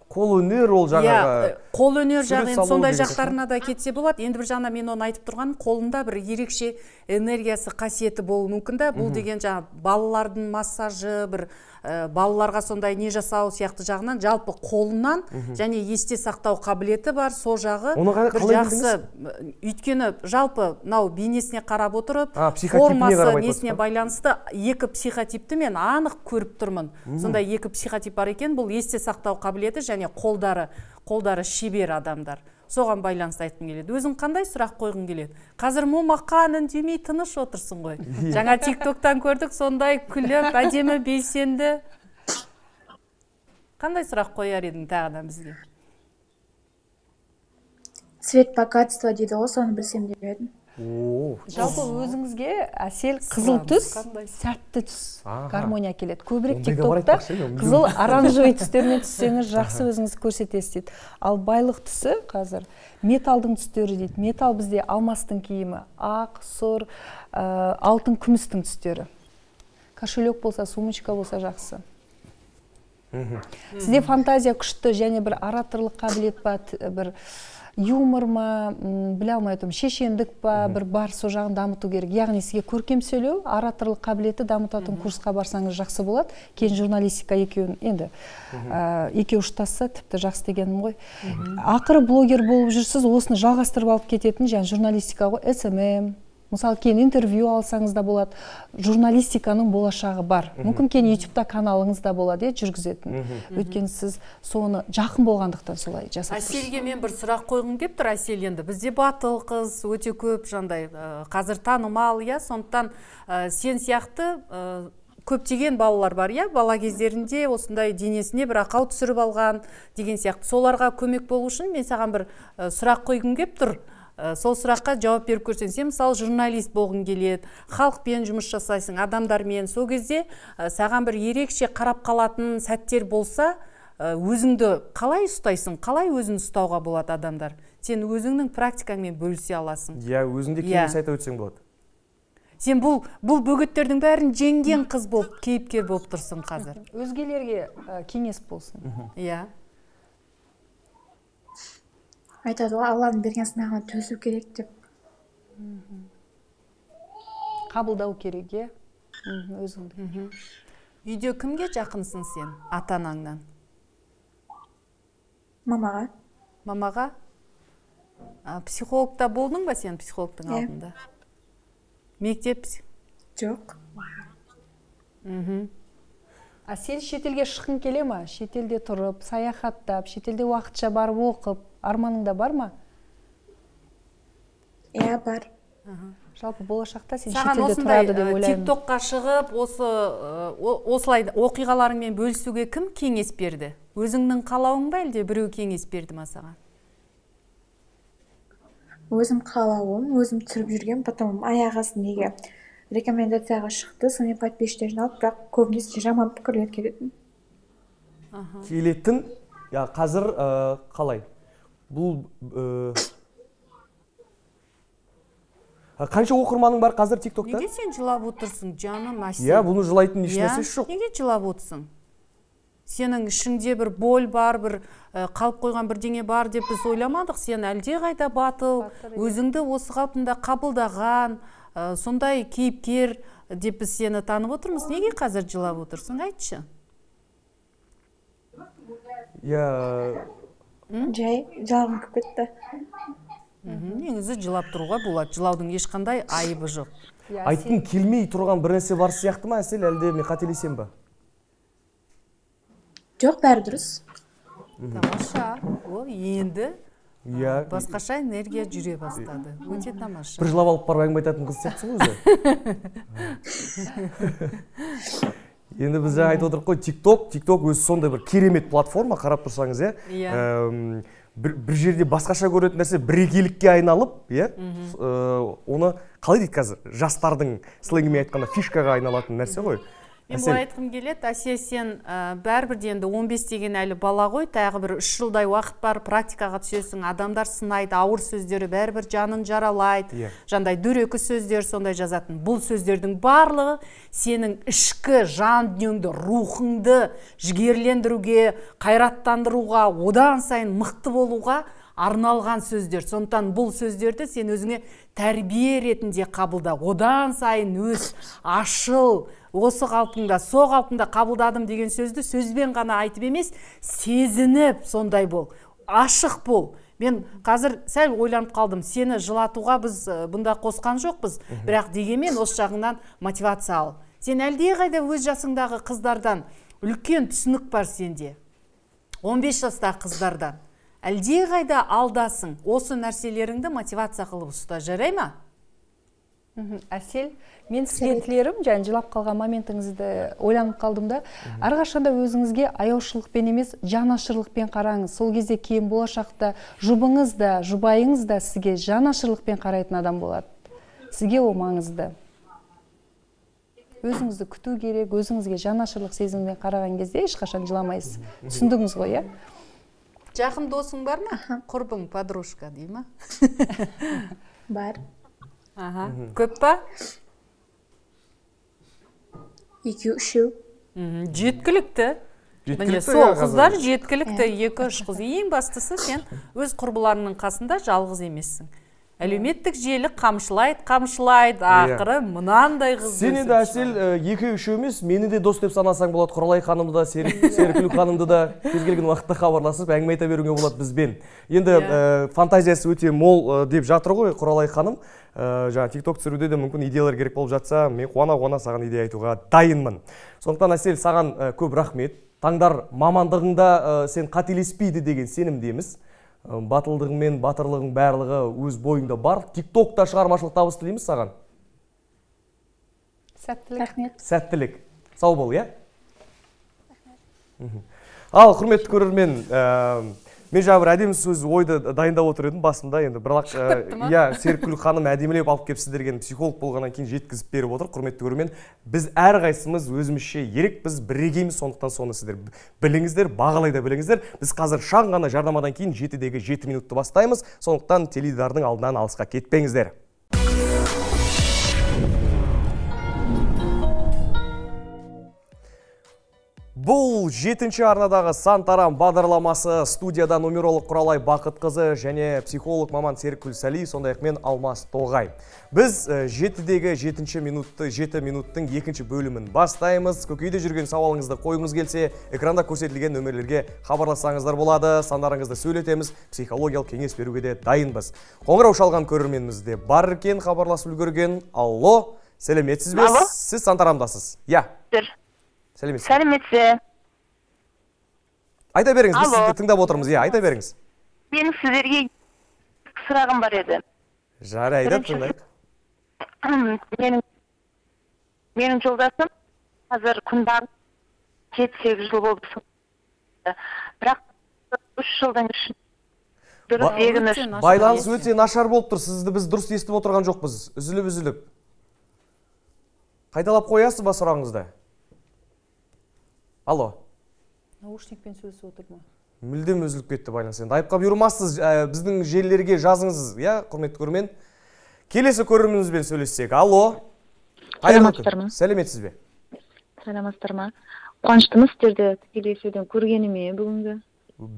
Speaker 1: Қол өнер ол жаңағы.
Speaker 2: Қол өнер жағы сондай жақтарына да кетсе болады. Енді бір жағынан мен оны айтып тұрған, қолында бір ерекше энергиясы, қасиеті болуы мүмкін да. Бұл деген жаңа балалардың массажы, бір балаларға сондай не жасау сияқты жағынан жалпы қолынан және есте сақтау қабілеті бар, сол жағы бір жақсы. Өйткені жалпы нау бейнесіне қарап отырып, формасы несіне байланысты екі психотипті мен анық көріп тұрмын. Сондай екі психотип бар екен, бұл есте сақтау қабілеті және қолдары, қолдары шебер адамдар. Соған байланысты айтқым келеді. Өзің қандай сұрақ қойғың келеді? Қазір момақан үндемей тыныш отырсың ғой. Жаңа тик-токтан көрдік, сондай күліп, әдемі, белсенді. Қандай сұрақ қояр едің тағыдан бізге?
Speaker 9: Цвет богатства дейді ғой, соны білсем деп едім.
Speaker 4: Жалпы өзіңізге әсел қызыл түс, сәтті түс, гармония келеді. Көбірек тиктокта қызыл оранжевый түстермен түссеңіз жақсы өзіңізді көрсетесіз дейді. Ал байлық түсі қазір металдың түстері дейді. Метал бізде алмастың киімі, ақ, сұр, алтын, күмістің түстері. Кошелек болса, сумочка болса жақсы. Сізде фантазия күшті және бір ораторлық қабілет па, бір юмор ма, біле алмай отырмын, шешендік па, бір бар со жағын дамыту керек. Яғни сізге көркем сөйлеу, ораторлық қабілеті дамытатын курсқа барсаңыз жақсы болады. Кейін журналистика екеуін енді екеуі ұштасса тіпті жақсы дегенім ғой. Ақыры блогер болып жүрсіз, осыны жалғастырып алып кететін, және журналистика ғой, эс эм эм. Мысалы, кейін интервью алсаңыз да болады. Журналистиканың болашағы бар. Мүмкін кейін ютубта каналыңыз да болады, жүргізетін. Өйткені сіз соны жақын болғандықтан солай жасап тұрсыз.
Speaker 2: Әселге мен бір сұрақ қойғым кеп тұр, Әсел, енді бізде батыл қыз өте көп, жандай қазір танымал, иә, сондықтан сен сияқты көптеген балалар бар, иә, бала кездерінде осындай денесіне бір ақау түсіріп алған деген сияқты. Соларға көмек болу үшін мен саған бір сұрақ қойғым кеп тұр. Сол сұраққа жауап беріп көрсең, сен мысалы журналист болғың келеді, халықпен жұмыс жасайсың, адамдармен. Сол кезде саған бір ерекше қарап қалатын сәттер болса, өзіңді қалай ұстайсың, қалай өзін ұстауға болады адамдар? Сен өзіңнің практикаңмен бөлісе аласың.
Speaker 1: Иә, өзіңде кеңес айта өтсең болады.
Speaker 2: Сен бұл бұл бөгеттердің бәрін жеңген қыз болып, кейіпкер болып тұрсың қазір.
Speaker 4: Өзгелерге кеңес болсын.
Speaker 2: Иә.
Speaker 9: Айтады ғой, Алланың берген сынағына төзу керек деп.
Speaker 4: Қабылдау керек, е? Өзіңді.
Speaker 2: Үйде кімге жақынсың сен, ата-анаңнан?
Speaker 9: Мамаға.
Speaker 2: Мамаға? Психологта болдың ба сен психологтың алдында? Мектеп?
Speaker 9: Жоқ.
Speaker 4: Әсел шетелге шыққың келе ма? Шетелде тұрып, саяхаттап, шетелде уақытша барып оқып, арманыңда бар ма?
Speaker 9: Иә, бар.
Speaker 4: Жалпы болашақта сен шетелде тұрады деп ойлаймын.
Speaker 2: Тиктокқа шығып, осылай оқиғаларыңмен бөлісуге кім кеңес берді? Өзіңнің қалауың ба, әлде біреу кеңес берді ма саған?
Speaker 9: Өзім қалауым, өзім түсіріп жүрген, потом аяқ астында рекомендацияға шықты, сонымен подписчиктерін алып, бірақ көбінесе жаман пікірлер келетін.
Speaker 1: Келетін, қазір қалай? Бұл қанша оқырманың бар қазір тиктокта?
Speaker 2: Неге сен жылап отырсың, жаным, Әсел?
Speaker 1: Иә, бұны жылайтын ешнәрсесі жоқ.
Speaker 2: Неге жылап отырсың? Сенің ішіңде бір боль бар, бір қалып қойған бірдеңе бар деп біз ойламадық. Сен әлде қайда батыл, өзіңді осы қалпында қабылдаған, сондай кейіпкер деп біз сені танып отырмыз. Неге қазір жылап отырсың? Айтшы.
Speaker 1: Иә.
Speaker 9: Жай, жылағым кеп кетті.
Speaker 2: Негізі жылап тұруға болады. Жылаудың ешқандай айыбы жоқ.
Speaker 1: Айтқың келмей тұрған бір нәрсе бар сияқты ма, Әсел, әлде мен қателесем ба?
Speaker 9: Жоқ, бәрі дұрыс.
Speaker 2: Тамаша. Ол енді басқаша энергия жүре бастады. Өте тамаша.
Speaker 1: Бір жылап алып барып әңгіме айтатын қыз сияқтысың өзі. Енді біз айтып отырық қой, тикток, тикток өзі сондай бір керемет платформа, қарап тұрсаңыз, иә. Бір жерде басқаша көретін нәрсе бірегейлікке айналып, иә. Оны қалай дейді қазір? Жастардың сленгімен айтқанда фишкаға айналатын нәрсе ғой.
Speaker 2: Мен бұл айтқым келеді, Әсел, сен бәрібірде енді он бес деген әлі бала ғой, тағы бір үш жылдай уақыт бар, практикаға түсесің, адамдар сынайды, ауыр сөздері бәрібір жанын жаралайды, жандай дөрекі сөздер сондай жазатын. Бұл сөздердің барлығы сенің ішкі жан дүниеңді, рухыңды жігерлендіруге, қайраттандыруға, одан сайын мықты болуға арналған сөздер. Сондықтан бұл сөздерді сен өзіңе тәрбие ретінде қабылда, одан сайын өз, ашыл, осы қалпында, со қалпында қабылдадым деген сөзді сөзбен ғана айтып емес, сезініп сондай бол, ашық бол. Мен қазір сәл ойланып қалдым, сені жылатуға біз бұнда қосқан жоқпыз, бірақ дегенмен осы жағынан мотивация ал. Сен әлде қайда өз жасыңдағы қыздардан үлкен түсінік бар сенде, он бес жастағы қыздардан. Әлде қайда алдасың, осы нәрселеріңді мотивация қылып ұста, жарай ма?
Speaker 4: Әсел, мен сізге тілерім, және жылап қалған моментіңізді ойланып қалдым да, әрқашанда өзіңізге аяушылықпен емес, жанашырлықпен қараңыз. Сол кезде кейін болашақта жұбыңыз да, жұбайыңыз да сізге жанашырлықпен қарайтын адам болады. сізге ол маңызды. Өзіңізді күту керек, өзіңізге жанашырлық сезіммен қараған кезде ешқашан жыламайсыз. Түсіндіңіз ғой, иә?
Speaker 2: Жақын досың бар ма? Құрбың, подружка дей ма?
Speaker 9: Бар.
Speaker 2: Аха. Көп па?
Speaker 9: Екеу, үшеу.
Speaker 2: Жеткілікті. Міне сол қыздар жеткілікті, екі үш қыз. Ең бастысы сен өз құрбыларының қасында жалғыз емессің. Әлеуметтік желі қамшылайды, қамшылайды, ақыры мынандай қыз.
Speaker 1: Сен енді Әсел екі үшеу емес, мені де дос деп санасаң болады. Құралай ханымды да, Серікгүл ханымды да кез келген уақытта хабарласып, әңгіме айта беруге болады бізбен. Енді фантазиясы өте мол деп жатыр ғой Құралай ханым. Жаңа TikTok түсіруде де мүмкін идеялар керек болып жатса, мен қуана-қуана саған идея айтуға дайынмын. Сондықтан Әсел, саған көп рахмет. Таңдар мамандығыңда сен қателеспейді деген сенімдеміз. Батылдығың мен батырлығың барлығы өз бойыңда бар. TikTokта шығармашылық табыс тілейміз саған.
Speaker 4: Сәттілік.
Speaker 1: Сәттілік. Сау бол, иә? Ал, құрметті көрермен, мен жаңа бір әдемі сөз ойды дайындап отыр едім басында, енді бірақ Серікгүл ханым әдемілеп алып келіп сіздерген психолог болғаннан кейін жеткізіп беріп отыр. Құрметті көрермен, біз әрқайсымыз өзімізше ерекпіз, бірегейміз, сондықтан соны сіздер біліңіздер, бағалай да біліңіздер. Біз қазір шаң ғана жарнамадан кейін жетідегі жеті минутты бастаймыз, сондықтан теледидардың алдынан алысқа кетпеңіздер. Бұл жетінші арнадағы сан тарам бағдарламасы. Студияда нумеролог Құралай Бақытқызы және психолог маман Серікгүл Сәли, сондай-ақ мен Алмас Тоғай. Біз жетідегі жетінші минутты, жеті минуттың екінші бөлімін бастаймыз. Көкейде жүрген сауалыңызды қойыңыз келсе, экранда көрсетілген нөмірлерге хабарлассаңыздар болады. Сандарыңызды сөйлетеміз, психологиялық кеңес беруге де дайынбыз. Қоңырау шалған көрерменіміз де бар екен, хабарласып үлгерген. Алло, сәлеметсіз бе? Сіз сан тарамдасыз. Я. Сәлеметсіз.
Speaker 10: Сәлеметсіз.
Speaker 1: Айта беріңіз, біз сізді тыңдап отырмыз. Иә, айта беріңіз.
Speaker 10: Менің сіздерге сұрағым бар еді.
Speaker 1: Жарайды, тыңдайық.
Speaker 10: Менің менің жолдасым қазір күнбағыс жеті сегіз жыл болды. Бірақ үш жылдан ішінде дұрыс егініш.
Speaker 1: Байланыс өте нашар болып тұр. Сізді біз дұрыс естіп отырған жоқпыз. Үзіліп-үзіліп. Қайталап қоясыз ба сұрағыңызды? Алло.
Speaker 4: Наушникпен сөйлесіп отыр ма?
Speaker 1: Мүлдем үзіліп кетті байланыс. Енді айыпқа бұйырмассыз, біздің желілерге жазыңыз, иә, құрметті көрермен. Келесі көрерменімізбен сөйлессек. Алло.
Speaker 10: Сәлеметсіздер ме?
Speaker 1: Сәлеметсіз бе?
Speaker 10: Сәлеметсіздер ме? Қуаныштымыз сіздерді тікелей эфирден көргеніме бүгінгі.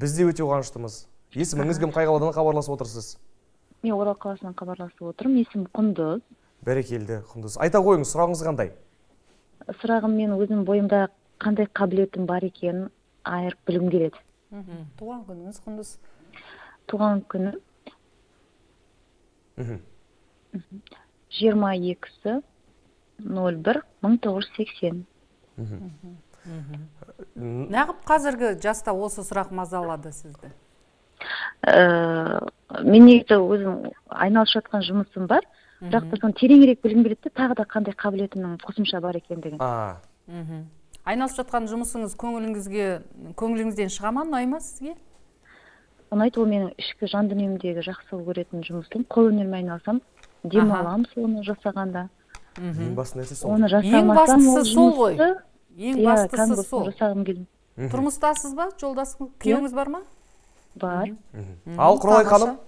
Speaker 1: Біз де өте қуаныштымыз. Есіміңіз кім, қай қаладан хабарласып отырсыз?
Speaker 10: Мен Орал қаласынан хабарласып отырмын. Есімім Құндыз.
Speaker 1: Бәрекелді, Құндыз. Айта қойыңыз, сұрағыңыз қандай?
Speaker 10: Сұрағым, мен өзім бойымда қандай қабілетім бар екенін айырып білім келеді.
Speaker 4: Туған күніңіз Құндыз?
Speaker 10: Туған күні жиырма екісі нөл бір мың тоғыз жүз сексен.
Speaker 2: Неғып қазіргі жаста осы сұрақ мазалады сізді?
Speaker 10: Мен негізі өзім айналысып жатқан жұмысым бар, бірақ та соны тереңірек білгім келеді, тағы да қандай қабілетімнің қосымша бар екендігін.
Speaker 2: Айналысып жатқан жұмысыңыз көңіліңізге, көңіліңізден шыға ма, ұнай ма сізге?
Speaker 10: Ұнайды, ол менің ішкі жан дүниемдегі жақсы көретін жұмысым. Қол өнермен айналсам, демаламын соны жасағанда.
Speaker 1: Ең басты нәрсе сол.
Speaker 10: Оны жасамасам ол
Speaker 2: жұмысты, ең бастысы сол.
Speaker 10: Жасағым келді.
Speaker 2: Тұрмыстасыз ба? Жолдасыңыз, күйеуіңіз бар ма?
Speaker 10: Бар.
Speaker 1: Ал Құралай ханым?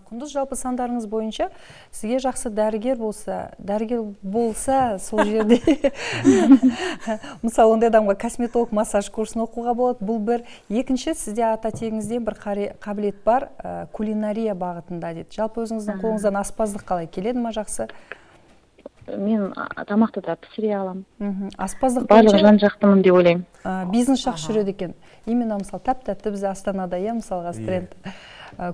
Speaker 4: Құндыз, жалпы сандарыңыз бойынша сізге жақсы дәрігер болса, дәрігер болса сол жерде мысалы ондай адамға косметолог массаж курсын оқуға болады. Бұл бір. Екінші, сізде ата тегіңізден бір қабілет бар, кулинария бағытында дейді. Жалпы өзіңіздің қолыңыздан аспаздық қалай келеді ма жақсы?
Speaker 10: Мен тамақты да пісіре аламын.
Speaker 4: Аспаздық
Speaker 10: барлығы жан жақтымын деп ойлаймын.
Speaker 4: Бизнес жақсы жүреді екен. Именно мысалы тәп-тәтті біз Астанада, иә, мысалға тренд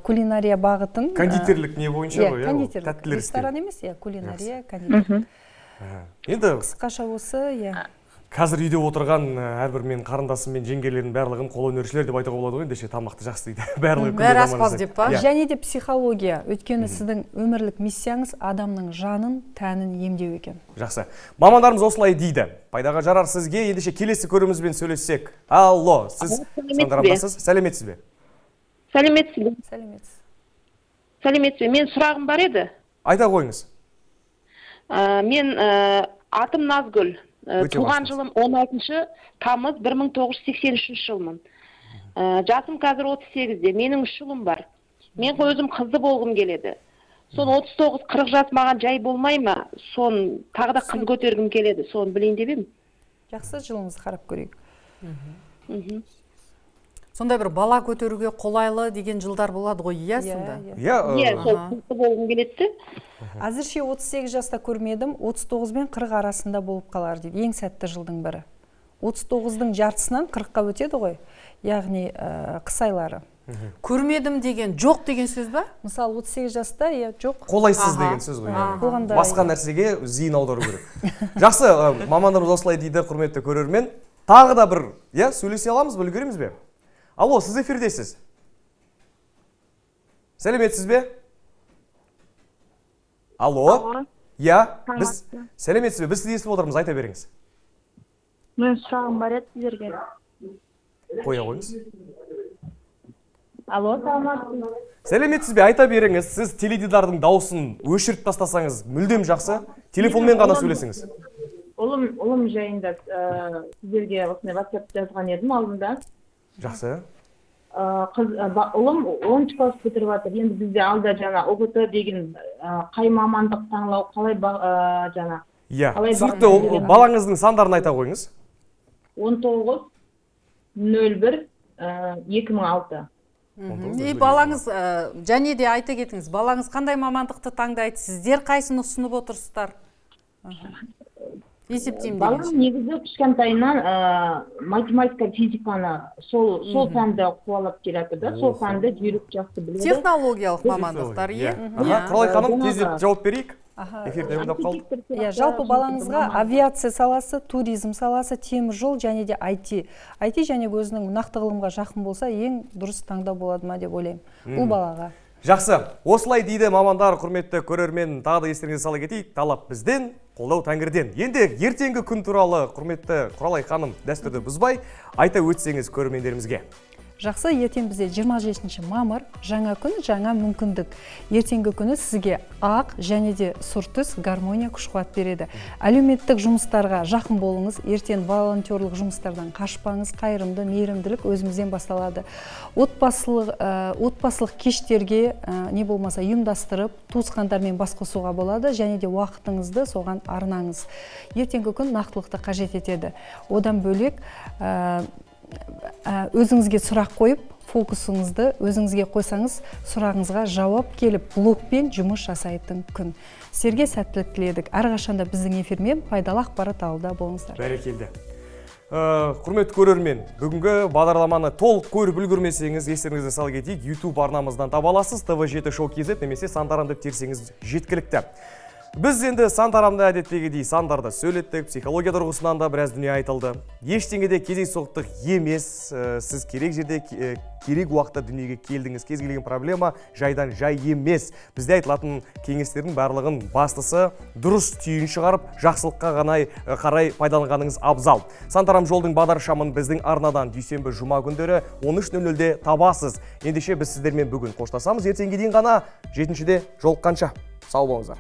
Speaker 4: кулинария бағытын.
Speaker 1: Кондитерлік не бойынша ғой, иә?
Speaker 4: Кондитерлік. Ресторан емес, иә, кулинария, кондитерлік.
Speaker 1: Енді
Speaker 4: қысқаша осы, иә.
Speaker 1: Қазір үйде отырған әрбір мен қарындасым мен жеңгелердің барлығын қолөнершілер деп айтуға болады ғой, ендеше тамақты жақсы дейді. Барлығы
Speaker 2: бәрі аспаз деп па?
Speaker 4: Және де психология. Өйткені сіздің өмірлік миссияңыз адамның жанын, тәнін емдеу екен.
Speaker 1: Жақсы. Мамандарымыз осылай дейді. Пайдаға жарар сізге, ендеше келесі көрімізбен сөйлессек. Алло, сіз сандарамдасыз? Сәлеметсіз бе?
Speaker 10: Сәлеметсіз бе?
Speaker 4: Сәлеметсіз.
Speaker 10: Сәлеметсіз бе? Мен сұрағым бар еді.
Speaker 1: Айта қойыңыз.
Speaker 11: Мен атым Назгүл. Туған жылым он алтыншы тамыз бір мың тоғыз жүз сексен үшінші жылмын. Жасым қазір отыз сегізде. Менің үш ұлым бар. Мен өзім қызды болғым келеді. Сон отыз тоғыз қырық жас маған жай болмай ма? Сон тағы да қыз көтергім келеді. Сон білейін деп едім.
Speaker 4: Жақсы, жылыңызды қарап көрейік.
Speaker 2: Сондай бір бала көтеруге қолайлы деген жылдар болады ғой, иә сонда?
Speaker 11: Иә, сол қызды болғым келеді.
Speaker 4: Әзірше отыз сегіз жаста көрмедім, отыз тоғыз бен қырық арасында болып қалар дейді. Ең сәтті жылдың бірі. отыз тоғыздың жартысынан қырыққа өтеді ғой, яғни қыс айлары.
Speaker 2: Көрмедім деген жоқ деген сөз ба?
Speaker 4: Мысалы отыз сегіз жаста, иә, жоқ.
Speaker 1: Қолайсыз деген сөз ғой. Басқа нәрсеге зейін аудару керек. Жақсы, мамандарымыз осылай дейді, құрметті көрермен. Тағы да бір, иә, сөйлесе аламыз, үлгереміз бе? Алло, сіз эфирдесіз. Сәлеметсіз бе? Алло. Я, біз сәлеметсіз бе? Біз сізді естіп отырмыз, айта беріңіз.
Speaker 12: Мен сұрағым бар еді сіздерге.
Speaker 1: Қоя қойыңыз.
Speaker 12: Алло, саламатсыз.
Speaker 1: Сәлеметсіз бе? Айта беріңіз. Сіз теледидардың дауысын өшіріп тастасаңыз, мүлдем жақсы. Телефонмен ғана сөйлесіңіз.
Speaker 12: Ұлым, ұлым жайында сіздерге осындай WhatsApp жазған едім алдында.
Speaker 1: Жақсы.
Speaker 12: Ұлым оныншы класс бітіріп жатыр. Енді бізде алда жаңа О Г Т деген қай мамандық таңлау қалай жаңа?
Speaker 1: Иә, түсінікті. Балаңыздың сандарын айта қойыңыз.
Speaker 12: он тоғыз нөл бір екі мың алты.
Speaker 2: И балаңыз, және де айта кетіңіз, балаңыз қандай мамандықты таңдайды? Сіздер қайсыны ұсынып отырсыздар? Есептеймін
Speaker 12: деген. Балам негізі кішкентайынан математика, физиканы сол пәнді қуалап келеді да, сол пәнді жүйрік жақсы біледі.
Speaker 2: Технологиялық мамандықтар, е?
Speaker 1: Құралай ханым, тездеп жауап берейік.
Speaker 4: Жалпы балаңызға авиация саласы, туризм саласы, темір жол және де ай ти. ай ти және өзінің нақты ғылымға жақын болса, ең дұрыс таңдау болады ма деп ойлаймын. Бұл балаға.
Speaker 1: Жақсы, осылай дейді мамандар, құрметті көрермен, тағы да естеріңізге сала кетейік, талап бізден, қолдау тәңірден. Енді ертеңгі күн туралы құрметті Құралай ханым дәстүрді бұзбай, айта өтсеңіз көрермендерімізге.
Speaker 4: Жақсы, ертең бізде жиырма жетінші мамыр, жаңа күн, жаңа мүмкіндік. Ертеңгі күні сізге ақ және де сұр түс гармония күш-қуат береді. Әлеуметтік жұмыстарға жақын болыңыз, ертең волонтерлық жұмыстардан қашпаңыз, қайырымды, мейірімділік өзімізден басталады. Отбасылық, отбасылық кештерге не болмаса ұйымдастырып, туысқандармен бас қосуға болады және де уақытыңызды соған арнаңыз. Ертеңгі күн нақтылықты қажет етеді. Одан бөлек өзіңізге сұрақ қойып, фокусыңызды өзіңізге қойсаңыз, сұрағыңызға жауап келіп, блокпен жұмыс жасайтын күн. Сіздерге сәттілік тіледік. Әрқашанда біздің эфирмен пайдалы ақпарат алуда болыңыздар.
Speaker 1: Бәрекелді. Құрметті көрермен, бүгінгі бағдарламаны толық көріп үлгермесеңіз, естеріңізге сала кетейік, YouTube арнамыздан таба аласыз, тэ вэ жеті шоу кз немесе сандарам деп терсеңіз жеткілікті. Біз енді сандарамда әдеттегідей сандарды сөйлеттік, психология тұрғысынан да біраз дүние айтылды. Ештеңеде кездейсоқтық емес, сіз керек жерде керек уақытта дүниеге келдіңіз. Кез келген проблема жайдан жай емес. Бізде айтылатын кеңестердің барлығын бастысы дұрыс түйін шығарып, жақсылыққа ғана қарай пайдаланғаныңыз абзал. Сандарам жолдың бағдаршамын біздің арнадан дүйсенбі жұма күндері он үш нөл нөлде табасыз. Ендеше біз сіздермен бүгін қоштасамыз. Ертеңге дейін ғана жетіншіде жолыққанша. Сау болыңыздар.